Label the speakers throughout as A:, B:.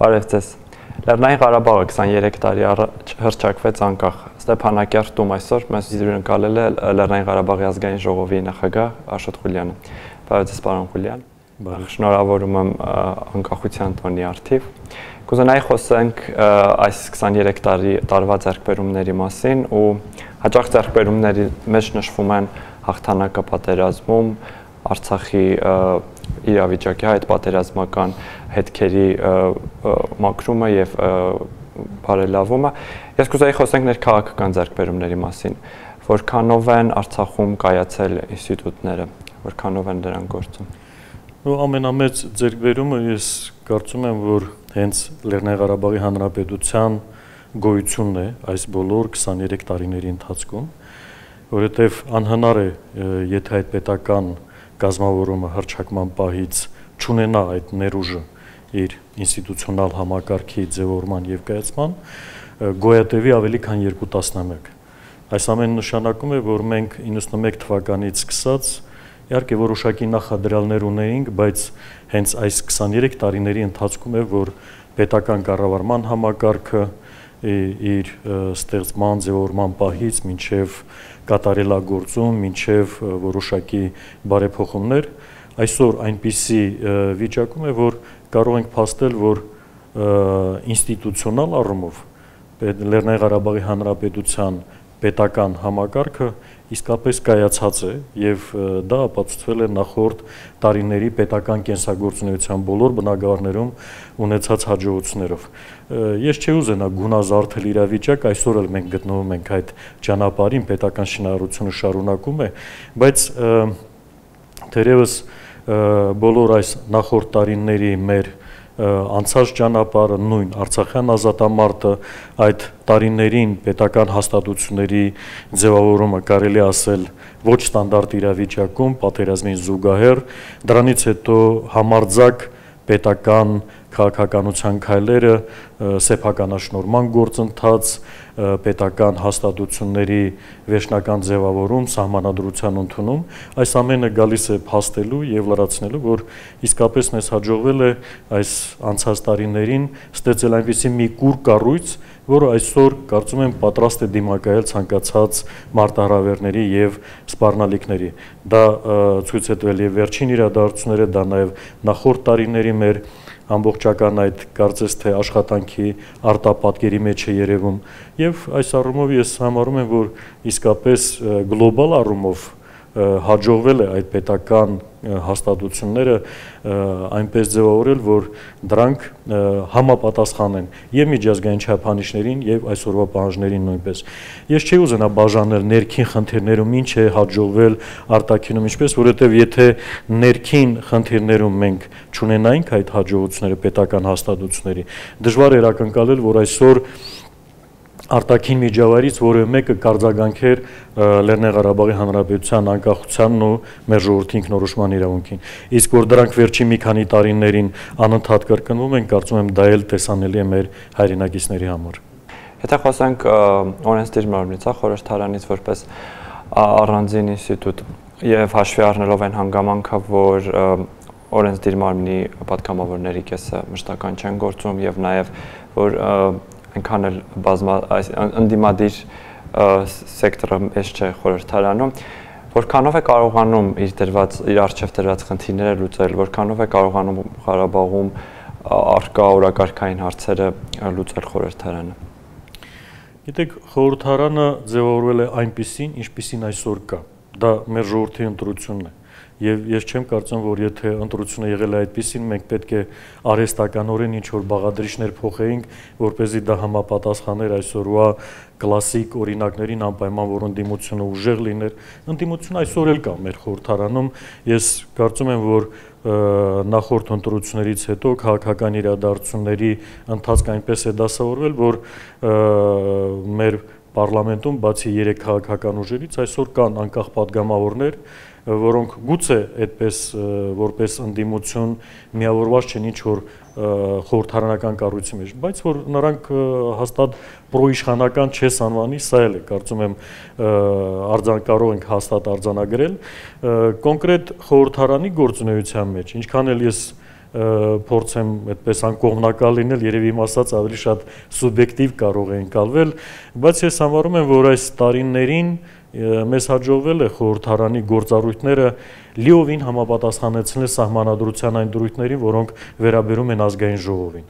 A: Բարև ձեզ։ Լեռնային Ղարաբաղը 23 տարի առաջ հռչակվեց անկախ։ Ստեփանակերտում այսօր մեզ հյուրընկալել է Լեռնային Ղարաբաղի ազգային ժողովի նախագահ Աշոտ Ղուլյանը։ Բարև ձեզ, պարոն Ղուլյան։ Շնորհավորում եմ անկախության տոնի առթիվ։ Կուզենայի խոսենք այս 23 տարվա ձեռքբերումների մասին ու հաճախ ձեռքբերումների մեջ նշվում են հաղթանակը պատերազմում, Արցախի իրավիճակի այդ պատերազմական հետքերի մաքրումը եւ բարելավումը։ Ես կուզեի խոսենք ներքաղաքական ձեռքբերումների մասին, որքանով են Արցախում կայացել ինստիտուտները, որքանով են դրանք գործում։
B: Ամենամեծ ձեռքբերումը ես կարծում եմ, որ հենց Լեռնային Ղարաբաղի Հանրապետության գոյությունն է այս բոլոր 23 տարիների ընթացքում, որովհետև անհնար է, եթե այդ պետական կազմավորումը հռչակման պահից չունենա այդ ներուժը իր ինստիտուցիոնալ համակարգի ձևավորման եւ կայացման, գոյատևի ավելի քան 2 տասնամյակ։ Այս ամենը նշանակում է, որ մենք 91 թվականից սկսած իհարկե որոշակի նախադրյալներ ունեինք, բայց հենց այս 23 տարիների ընթացքում է, որ պետական կառավարման համակարգը իր ստեղծման ձևավորման պահից մինչև կատարելագործում, մինչև որոշակի բարեփոխումներ, այսօր այնպիսի վիճակում է, որ կարող ենք փաստել, որ ինստիտուցիոնալ առումով Լեռնային Ղարաբաղի Հանրապետության պետական համակարգը իսկապես կայացած է եւ դա ապացուցվել է նախորդ տարիների պետական կենսագործունեության բոլոր բնագավառներում ունեցած հաջողություններով։ Ես չի ուզենա գունազարդել իրավիճակ, այսօր էլ մենք գտնվում ենք այդ ճանապարհին, պետական շինարարությունը շարունակում է, բայց թերևս բոլոր այս նախորդ տարիների մեր անցած ճանապարհը, նույն Արցախյան ազատամարտը, այդ տարիներին պետական հաստատությունների ձևավորումը կարելի ասել ոչ ստանդարտ իրավիճակում, պատերազմին զուգահեռ, դրանից հետո համարձակ պետական քաղաքականության քայլերը, սեփականաշնորհման գործընթաց, պետական հաստատությունների վերջնական ձևավորում, սահմանադրության ընդունում, այս ամենը գալիս է փաստելու եւ լրացնելու, որ իսկապես մեզ հաջողվել է այս անցած տարիներին ստեղծել այնպիսի մի կուր կառույց, որը այսօր կարծում եմ պատրաստ է դիմակայել ցանկացած մարտահրավերների եւ սպառնալիքների։ Դա ցույց է տվել եւ վերջին իրադարձությունները, դա նաեւ նախորդ տարիների մեր ամբողջական այդ կարծես թե աշխատանքի արտապատկերի մեջ է երևում եւ այս առումով ես համարում եմ, որ իսկապես գլոբալ առումով հաջողվել է այդ պետական հաստատությունները այնպես ձևավորել, որ դրանք համապատասխանեն եւ միջազգային չափանիշներին եւ այսօրվա պահանջներին նույնպես։ Ես չի ուզենա բաժանել ներքին խնդիրներում ինչ է հաջողվել, արտաքինում ինչպես, որովհետեւ եթե ներքին խնդիրներում մենք չունենայինք այդ հաջողությունները պետական հաստատությունների, դժվար էր ակնկալել, որ այսօր արտաքին միջավայրից որևէ մեկը կարձագանքեր Լեռնային Ղարաբաղի Հանրապետության անկախությանն ու մեր ժողովրդի ինքնորոշման իրավունքին։ Իսկ որ դրանք վերջին մի քանի տարիներին անընդհատ կրկնվում են, կարծում եմ դա էլ տեսանելի է մեր հայրենակիցների համար։
A: Եթե խոսենք օրենսդիր մարմնից, խորհրդարանից որպես առանձին ինստիտուտ եւ հաշվի առնելով այն հանգամանքը, որ օրենսդիր մարմնի պատգամավորների կեսը մշտական չեն գործում եւ նաեւ որ այնքան էլ ընդդիմադիր սեկտորը մեծ չէ խորհրդարանում, որքանով է կարողանում իր առջև դրված խնդիրները լուծել, որքանով է կարողանում Ղարաբաղում առկա օրակարգային հարցերը լուծել խորհրդարանը։
B: Գիտեք, խորհրդարանը ձևավորվել է այնպիսին, ինչպիսին այսօր կա։ Դա մեր ժողովրդի ընտրությունն է։ Եվ ես չեմ կարծում, որ եթե ընտրությունը եղել է այդպիսին, մենք պետք է արհեստականորեն ինչ-որ բաղադրիչներ փոխեինք, որպեսզի դա համապատասխաներ այսօրվա կլասիկ օրինակներին, անպայման որ ընդդիմությունը ուժեղ լիներ։ Ընդդիմությունը այսօր էլ կա մեր խորհրդարանում։ Ես կարծում եմ, որ նախորդ ընտրություններից հետո քաղաքական իրադարձությունների ընթացքը այնպես է դասավորվել, որ մեր պարլամենտում բացի 3 քաղաքական ուժերից այսօր կան անկախ պատգամավորներ, որոնք գուցե այդպես որպես ընդդիմություն միավորված չեն ինչ-որ խորհրդարանական կառույցի մեջ, բայց որ նրանք հաստատ պրոիշխանական չես անվանի, սա էլ է, կարծում եմ կարող ենք հաստատ արձանագրել կոնկրետ խորհրդարանի գործունեության մեջ, ինչքան էլ ես փորձեմ այդպես անկողմնակալ լինել, երևի իմ ասած ավելի շատ սուբյեկտիվ կարող է ընկալվել, բայց ես համարում եմ, որ այս տարիներին մեզ հաջողվել է խորհրդարանի գործառույթները լիովին համապատասխանեցնել սահմանադրության այն դրույթներին, որոնք վերաբերում են ազգային ժողովին։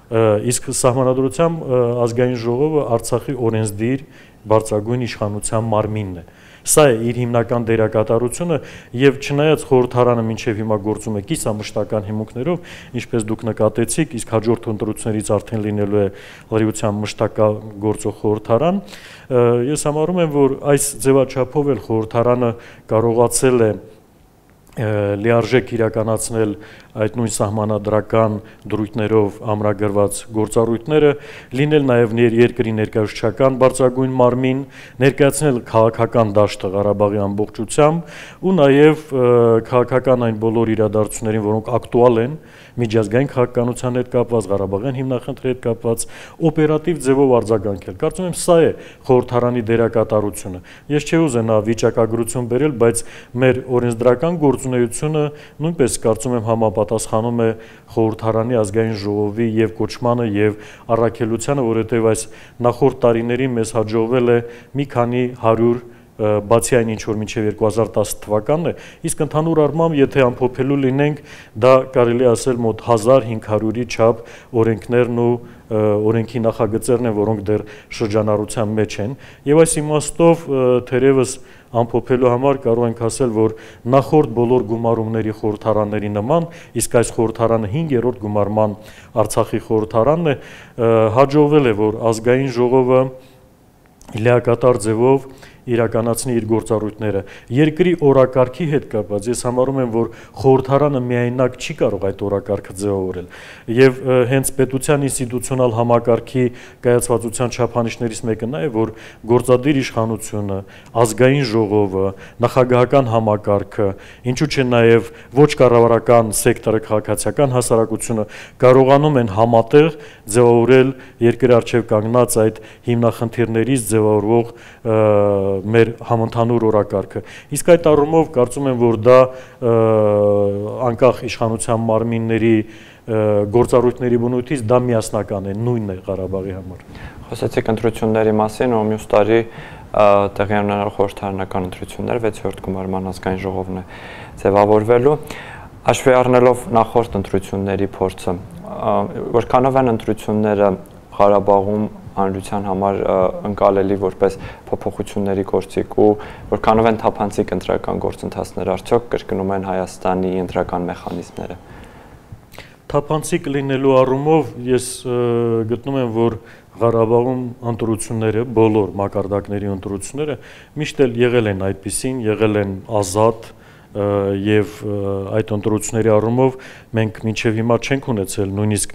B: Իսկ սահմանադրությամբ ազգային ժողովը Արցախի օրենսդիր բարձրագույն իշխանության մարմինն է։ Սա է իր հիմնական դերակատարությունը եւ չնայած խորհրդարանը մինչեւ հիմա գործում է կիսամշտական հիմունքներով, ինչպես դուք նկատեցիք, իսկ հաջորդ ընտրություններից արդեն լինելու է լրիվության մշտական գործող խորհրդարան, ես համարում եմ, որ այս ձևաչափով էլ խորհրդարանը կարողացել է լիարժեք իրականացնել այդ նույն սահմանադրական դրույթներով ամրագրված գործառույթները, լինել նաև երկրի ներկայացուցչական բարձրագույն մարմին, ներկայացնել քաղաքական դաշտը Ղարաբաղի ամբողջությամբ ու նաև քաղաքական այն բոլոր իրադարձություններին, որոնք ակտուալ են միջազգային քաղաքականության հետ կապված, Ղարաբաղյան հիմնախնդրի հետ կապված, օպերատիվ ձևով արձագանքել։ Կարծում եմ, սա է խորհրդարանի դերակատարությունը։ Ես չի ուզենա վիճակագրություն բերել, բայց մեր օրենսդրական գործունեությունը նույնպես կարծում եմ համապատասխանում է խորհրդարանի ազգային ժողովի եւ կոչմանը եւ առաքելությանը, որովհետեւ այս նախորդ տարիներին մեզ հաջողվել է մի քանի 100 բացի այն ինչ որ մինչև 2010 թվականն է, իսկ ընդհանուր առմամբ եթե ամփոփելու լինենք, դա կարելի է ասել մոտ 1500-ի չափ օրենքներն ու օրենքի նախագծերն են, որոնք դեռ շրջանառության մեջ են, եւ այս իմաստով թերևս ամփոփելու համար կարող ենք ասել, որ նախորդ բոլոր գումարումների խորհրդարանների նման, իսկ այս խորհրդարանը 5-րդ գումարման Արցախի խորհրդարանն է, հաջողվել է, որ ազգային ժողովը լիակատար ձևով իրականացնի իր գործառույթները։ Երկրի օրակարգի հետ կապված ես համարում եմ, որ խորհրդարանը միայնակ չի կարող այդ օրակարգը ձևավորել։ Եվ հենց պետության ինստիտուցիոնալ համակարգի կայացվածության չափանիշներից մեկը նա է, որ գործադիր իշխանությունը, ազգային ժողովը, նախագահական համակարգը, ինչու՞ չէ նաև ոչ կառավարական սեկտորը, քաղաքացիական հասարակությունը կարողանում են համատեղ ձևավորել երկրի առջև կանգնած այդ հիմնախնդիրներից ձևավորվող մեր համընդհանուր օրակարգը։ Իսկ այդ առումով կարծում եմ, որ դա անկախ իշխանության մարմինների գործառույթների բնույթից դա միասնական է, նույնն է Ղարաբաղի համար։
A: Խոսեցիք ընտրությունների մասին, ու մյուս տարի տեղի ունենալու խորհրդարանական ընտրություններ 6-րդ գումարման ազգային ժողովն է ձևավորվելու, հաշվի առնելով նախորդ ընտրությունների փորձը, որքանով են ընտրությունները Ղարաբաղում հանրության համար ընկալելի որպես փոփոխությունների գործիք ու որքանով են թափանցիկ ընտրական գործընթացներ, արդյոք կրկնում են Հայաստանի ընտրական մեխանիզմները։
B: Թափանցիկ լինելու առումով ես գտնում եմ, որ Ղարաբաղում ընտրությունները, բոլոր մակարդակների ընտրությունները միշտ էլ եղել են այդպիսին, եղել են ազատ եւ այդ ընտրությունների առումով մենք մինչեւ հիմա չենք ունեցել նույնիսկ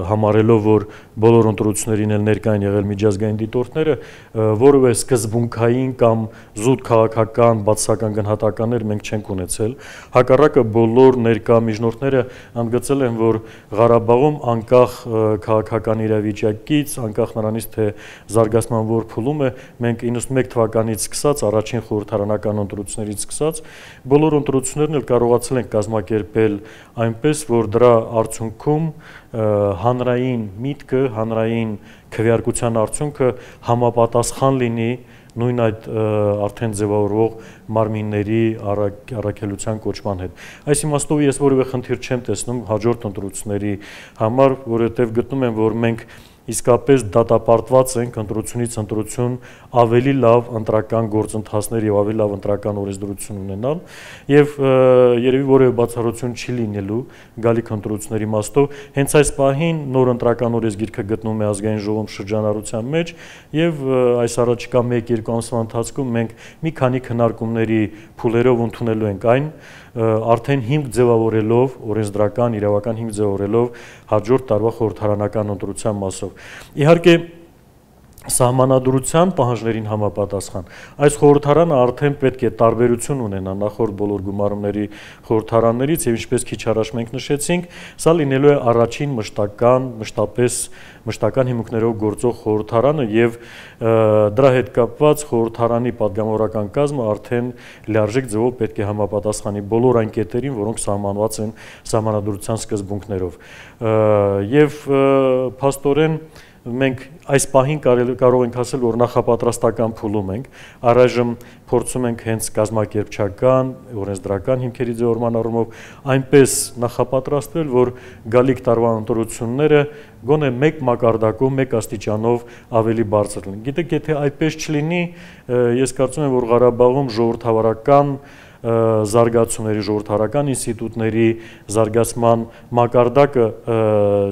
B: համարելով որ բոլոր ընտրություններին էլ ներկա են եղել միջազգային դիտորդները որևէ սկզբունքային կամ զուտ քաղաքական բացասական գնահատականներ մենք չենք ունեցել հակառակը բոլոր ներկա միջնորդները ընդգծել են որ Ղարաբաղում անկախ քաղաքական իրավիճակից անկախ նրանից թե զարգացման որ փուլում է մենք 91 թվականից սկսած առաջին խորհրդարանական ընտրություններից սկսած բոլոր ընտրություններն էլ կարողացել են կազմակերպել այնպես, որ դրա արդյունքում հանրային միտքը, հանրային քվեարկության արդյունքը համապատասխան լինի նույն այդ արդեն ձևավորվող մարմինների առաքելության կոչման հետ։ Այս իմաստով ես որևէ խնդիր չեմ տեսնում հաջորդ ընտրությունների համար, որովհետև գտնում եմ, որ մենք իսկապես դատապարտված ենք ընտրությունից ընտրություն ավելի լավ ընտրական գործընթացներ եւ ավելի լավ ընտրական օրենսդրություն ունենալ եւ երևի որևէ բացառություն չի լինելու գալիք ընտրությունների իմաստով հենց այս պահին նոր ընտրական օրենսգիրքը գտնվում է ազգային ժողովում շրջանառության մեջ եւ այս առաջիկա 1-2 ամսվա ընթացքում մենք մի քանի քննարկումների փուլերով ընդունելու ենք այն արդեն հիմք ձևավորելով օրենսդրական իրավական հիմք ձևավորելով հաջորդ տարվա խորհրդարանական ընտրության մասով Իհարկե Սահմանադրության պահանջներին համապատասխան այս խորհրդարանը արդեն պետք է տարբերություն ունենա նախորդ բոլոր գումարումների խորհրդարաններից եւ ինչպես քիչ առաջ մենք նշեցինք, սա լինելու է առաջին մշտական հիմունքներով գործող խորհրդարանը եւ դրա հետ կապված խորհրդարանի падգամավորական կազմը արդեն լիարժեք ձևով պետք է համապատասխանի բոլոր այն կետերին, որոնք սահմանված են սահմանադրության սկզբունքներով եւ փաստորեն մենք այս պահին կարող ենք ասել, որ նախապատրաստական փուլում ենք, առայժմ փորձում ենք հենց կազմակերպչական, օրենսդրական հիմքերի ձևավորման առումով այնպես նախապատրաստվել, որ գալիք տարվա ընտրությունները գոնե մեկ մակարդակով, մեկ աստիճանով ավելի բարձր լինեն։ Գիտեք, եթե այդպես չլինի, ես կարծում եմ, որ Ղարաբաղում ժողովրդավարական զարգացումների, ժողովրդարական ինստիտուտների զարգացման մակարդակը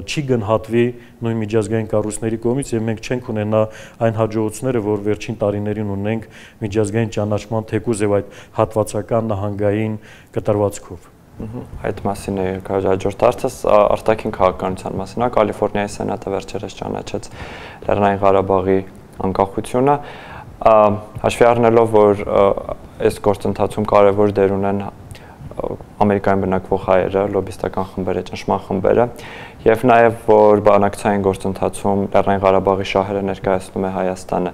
B: չի գնահատվի նույն միջազգային կառույցների կողմից եւ մենք չենք ունենա այն հաջողությունները, որ վերջին տարիներին ունենք միջազգային ճանաչման թեկուզ եւ այդ հատվածական նահանգային կտրվածքով։
A: Այդ մասին է հաջորդ հարցս արտաքին քաղաքականության մասին։ Կալիֆոռնիայի սենատը վերջերս ճանաչեց Լեռնային Ղարաբաղի անկախությունը, հաշվի առնելով, որ այս գործընթացում կարևոր դեր ունեն Ամերիկայում բնակվող հայերը, լոբիստական խմբերը, ճնշման խմբերը, եւ նաեւ որ բանակցային գործընթացում Լեռնային Ղարաբաղի շահերը ներկայացնում է Հայաստանը։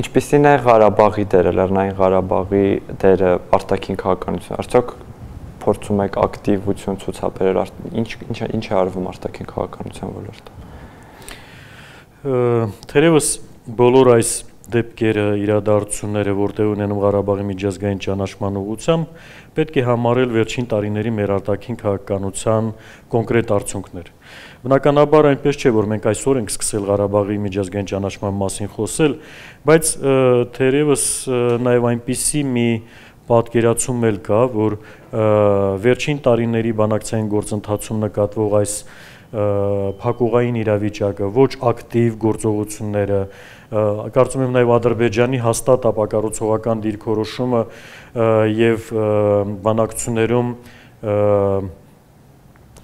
A: Ինչպիսին է Ղարաբաղի դերը, Լեռնային Ղարաբաղի դերը արտաքին քաղաքականություն։ Արդյոք փորձում եք ակտիվություն ցուցաբերել, ինչ է արվում արտաքին քաղաքականության ոլորտում։
B: Թերևս բոլոր այս դեպքերը, իրադարձությունները, որտեղ ունենում Ղարաբաղի միջազգային ճանաչման ուղղությամբ, պետք է համարել վերջին տարիների մեր արտաքին քաղաքականության կոնկրետ արդյունքներ։ Բնականաբար այնպես չէ, որ մենք այսօր ենք սկսել Ղարաբաղի միջազգային ճանաչման մասին խոսել, բայց թերևս նաև այնպիսի մի պատկերացում էլ կա, որ վերջին տարիների բանակցային գործընթացում նկատվող այս փակուղային իրավիճակը, ոչ ակտիվ գործողությունները, կարծում եմ նաև Ադրբեջանի հաստատ ապակառուցողական դիրքորոշումը եւ բանակցություններում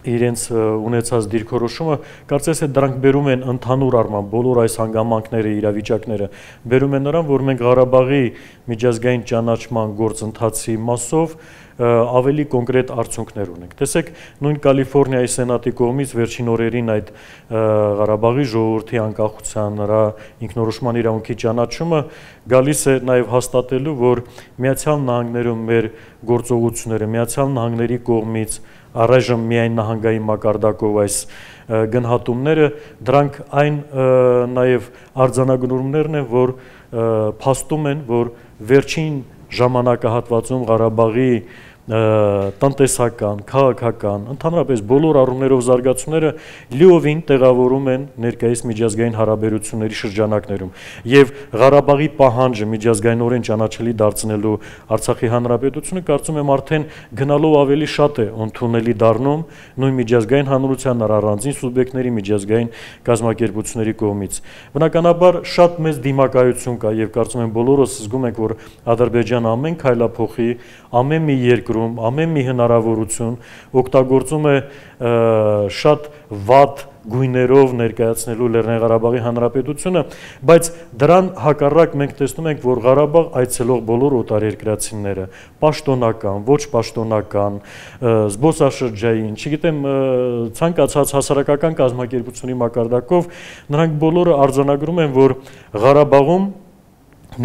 B: իրենց ունեցած դիրքորոշումը, կարծես է դրանք բերում են ընդհանուր առմամբ բոլոր այս հանգամանքները, իրավիճակները բերում են նրան, որ մենք Ղարաբաղի միջազգային ճանաչման գործընթացի մասով ավելի կոնկրետ արդյունքներ ունենք։ Տեսեք, նույն Կալիֆոռնիայի սենատի կողմից վերջին օրերին այդ Ղարաբաղի ժողովրդի անկախության, նրա ինքնորոշման իրավունքի ճանաչումը գալիս է նաև հաստատելու, որ Միացյալ Նահանգներում մեր գործողությունները, Միացյալ Նահանգների կողմից առայժմ միայն նահանգային մակարդակով այս գնահատումները, դրանք այն նաև արձանագրումներն են, որ փաստում են, որ վերջին ժամանակահատվածում Ղարաբաղի տնտեսական, քաղաքական, ընդհանրապես բոլոր առումներով զարգացումները լիովին տեղավորում են ներկայիս միջազգային հարաբերությունների շրջանակներում եւ Ղարաբաղի պահանջը միջազգայինորեն ճանաչելի դարձնելու Արցախի հանրապետությունը կարծում եմ արդեն գնալով ավելի շատ է ընդունելի դառնում նույն միջազգային հանրության առանձին սուբյեկտների միջազգային կազմակերպությունների կողմից։ Բնականաբար շատ մեծ դիմակայություն կա եւ կարծում եմ բոլորս զգում ենք, որ Ադրբեջանը ամեն քայլափոխի, ամեն մի երկրում, ամեն մի հնարավորություն օգտագործում է շատ վատ գույներով ներկայացնելու Լեռնային Ղարաբաղի հանրապետությունը, բայց դրան հակառակ մենք տեսնում ենք, որ Ղարաբաղ այցելող բոլոր օտարերկրացիները, պաշտոնական, ոչ պաշտոնական, զբոսաշրջային, չգիտեմ, ցանկացած հասարակական կազմակերպությունների մակարդակով, նրանք բոլորը արձանագրում են, որ Ղարաբաղում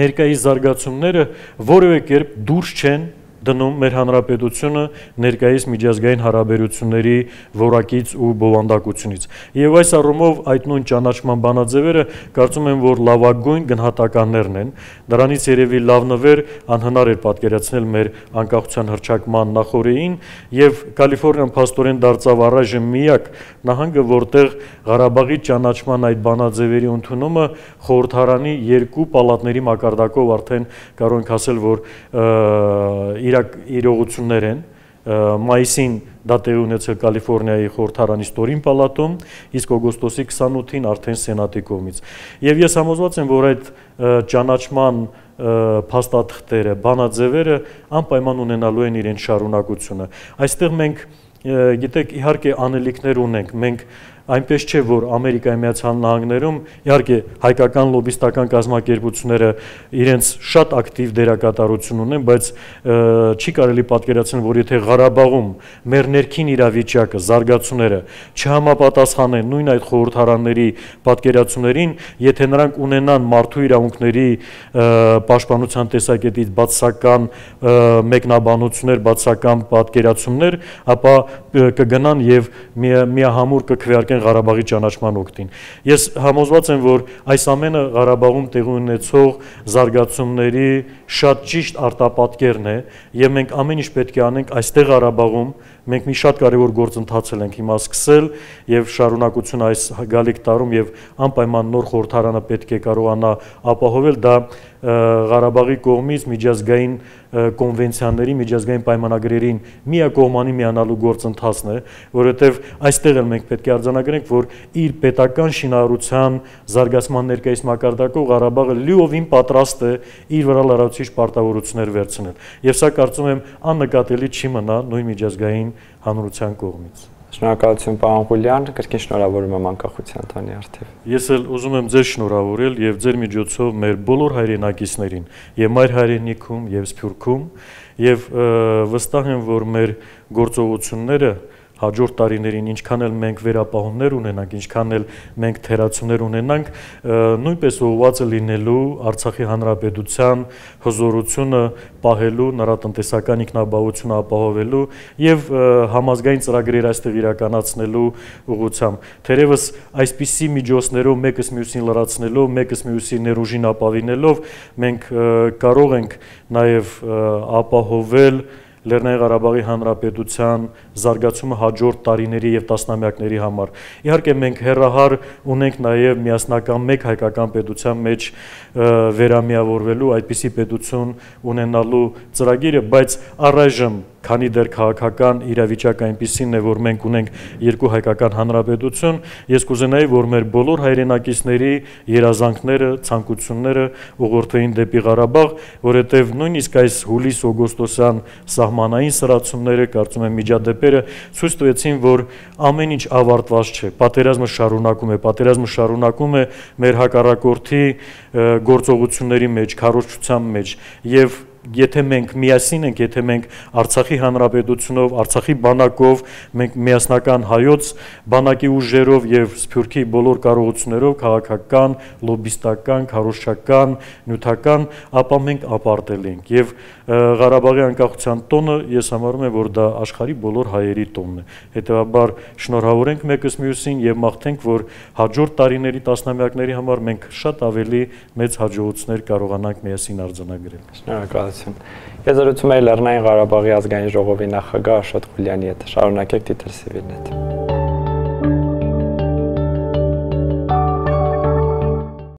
B: ներկայիս զարգացումները որևէ կերպ դուրս չեն դնում մեր հանրապետությունը ներկայիս միջազգային հարաբերությունների որակից ու բովանդակությունից։ Եվ այս առումով այդ նույն ճանաչման բանաձևերը կարծում եմ, որ լավագույն գնահատականներն են։ Դրանից երևի լավ նվեր անհնար էր պատկերացնել մեր անկախության հռչակման նախօրեին, եւ Կալիֆոռնիան փաստորեն դարձավ առայժմ միակ նահանգը, որտեղ Ղարաբաղի ճանաչման այդ բանաձևերի ընդունումը խորհրդարանի երկու պալատների մակարդակով արդեն կարող ենք ասել, որ իրողություններ են, մայիսին դա տեղի ունեցել Կալիֆոռնիայի խորհրդարանի ստորին պալատում, իսկ օգոստոսի 28-ին արդեն սենատի կողմից։ Եվ ես համոզված եմ, որ այդ ճանաչման փաստաթղթերը, բանաձևերը անպայման ունենալու են իրենց շարունակությունը։ Այստեղ մենք գիտեք, իհարկե անելիքներ ունենք, մենք այնպես չէ, որ Ամերիկայի Միացյալ Նահանգներում իհարկե հայկական լոբիստական կազմակերպությունները իրենց շատ ակտիվ դերակատարություն ունեն, բայց չի կարելի պատկերացնել, որ եթե Ղարաբաղում մեր ներքին իրավիճակը, զարգացումները չհամապատասխանեն նույն այդ խորհրդարանների պատկերացումներին, եթե նրանք ունենան մարդու իրավունքների պաշտպանության տեսակետից բացասական մեկնաբանություններ, բացասական պատկերացումներ, ապա կգնան եւ միահամուռ կքվեարկեն Ղարաբաղի ճանաչման օգտին։ Ես համոզված եմ, որ այս ամենը Ղարաբաղում տեղի ունեցող զարգացումների շատ ճիշտ արտապատկերն է եւ մենք ամեն ինչ պետք է անենք այստեղ Ղարաբաղում։ Մենք մի շատ կարևոր գործընթաց ենք հիմա սկսել եւ շարունակություն այս գալիք տարում եւ անպայման նոր խորհրդարանը պետք է կարողանա ապահովել դա Ղարաբաղի կողմից միջազգային կոնվենցիաների, միջազգային պայմանագրերին միակողմանի միանալու գործընթացն է, որովհետև այստեղ էլ մենք պետք է արձանագրենք, որ իր պետական շինարարության զարգացման ներկայիս մակարդակով Ղարաբաղը լիովին պատրաստ է իր վրա լրացուցիչ պարտավորություններ վերցնել։ Եվ սա կարծում եմ աննկատելի չի մնա նույն միջազգային հանրության կողմից։
A: Շնորհակալություն պարոն Ղուլյան, կրկին շնորհավորում եմ անկախության տոնի առթիվ։
B: Ես էլ ուզում եմ ձեզ շնորհավորել եւ ձեր միջոցով մեր բոլոր հայրենակիցներին եւ մայր հայրենիքում եւ Սփյուռքում եւ վստահ եմ, որ մեր գործողությունները հաջորդ տարիներին ինչքան էլ մենք վերապահումներ ունենանք, ինչքան էլ մենք թերացումներ ունենանք, նույնպես ուղղված է լինելու Արցախի հանրապետության հզորությունը պահելու, նրա տնտեսական ինքնաբավությունը ապահովելու եւ համազգային ծրագրեր այստեղ իրականացնելու ուղղությամբ։ Թերևս այսպիսի միջոցներով մեկս մյուսին լրացնելով, մեկս մյուսի ներուժին ապավինելով մենք կարող ենք նաեւ ապահովել Լեռնային Ղարաբաղի Հանրապետության զարգացումը հաջորդ տարիների եւ տասնամյակների համար։ Իհարկե մենք հերահար ունենք նաեւ միասնական մեկ հայկական պետության մեջ վերամիավորվելու, այդպիսի պետություն ունենալու ծրագիրը, բայց առայժմ քանի դեռ քաղաքական իրավիճակը այնպիսին է, որ մենք ունենք երկու հայկական հանրապետություն, ես կուզենայի, որ մեր բոլոր հայրենակիցների երազանքները, ցանկությունները ուղղորդվեին դեպի Ղարաբաղ, որովհետև նույնիսկ այս հուլիս-օգոստոսյան սահմանային սրացումները, կարծում եմ միջադեպերը ցույց տվեցին, որ ամեն ինչ ավարտված չէ, պատերազմը շարունակում է մեր հակառակորդի գործողությունների մեջ, քարոզչության մեջ եւ եթե մենք միասին ենք, եթե մենք Արցախի հանրապետությունով, Արցախի բանակով, մենք միասնական հայոց բանակի ուժերով եւ Սփյուռքի բոլոր կարողություններով, քաղաքական, լոբիստական, քարոզչական, նյութական, ապա մենք ապարտել ենք եւ Ղարաբաղի անկախության տոնը ես համարում եմ, որ դա աշխարհի բոլոր հայերի տոնն է։ Հետեւաբար շնորհավորենք մեկս մյուսին եւ մաղթենք, որ հաջորդ տարիների տասնամյակների համար մենք շատ ավելի մեծ հաջողություններ կարողանանք միասին արձանագրել։
A: Շնորհակալություն։ Ես զրուցում եմ Լեռնային Ղարաբաղի ազգային ժողովի նախագահ Աշոտ Ղուլյանի հետ։ Շարունակեք Դիտել Սիվիլնետ։